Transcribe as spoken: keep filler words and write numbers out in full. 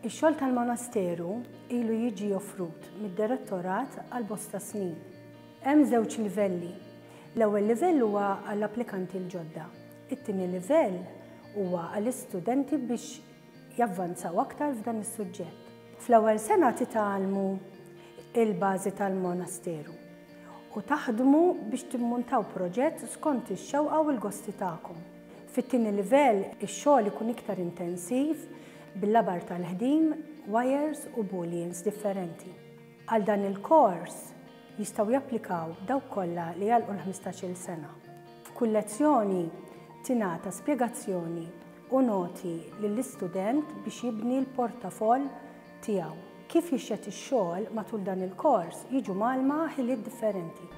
Ix-xogħol tal-monasteru ilu jiġi offrut mid-direttorat għal bosta snin. Hemm żewġ livelli. L-ewwel livell huwa għall-applikanti l-ġodda. It-tieni livell huwa għall-istudenti biex javvanzaw aktar f'dan is-suġġett. Fl-ewwel sena titgħallmu il-bażi tal-monasteru u taħdmu biex timmuntaw proġett skont ix-xewqa u l-gosti tagħkom. Fit-tieni livell ix-xogħol ikun iktar intensiv bil-labar tal-ħdim, wires u booleans differenti. Għal dan il-kors jistgħu japplikaw dawk kollha li għalqu l-ħmistax-il sena. F'kull lezzjoni tingħata spjegazzjoni u noti lill-istudent biex jibni l-portafoll tiegħu. Kif jixxet ix-xogħol matul dan il-kors jiġu mgħallma ħiliet differenti.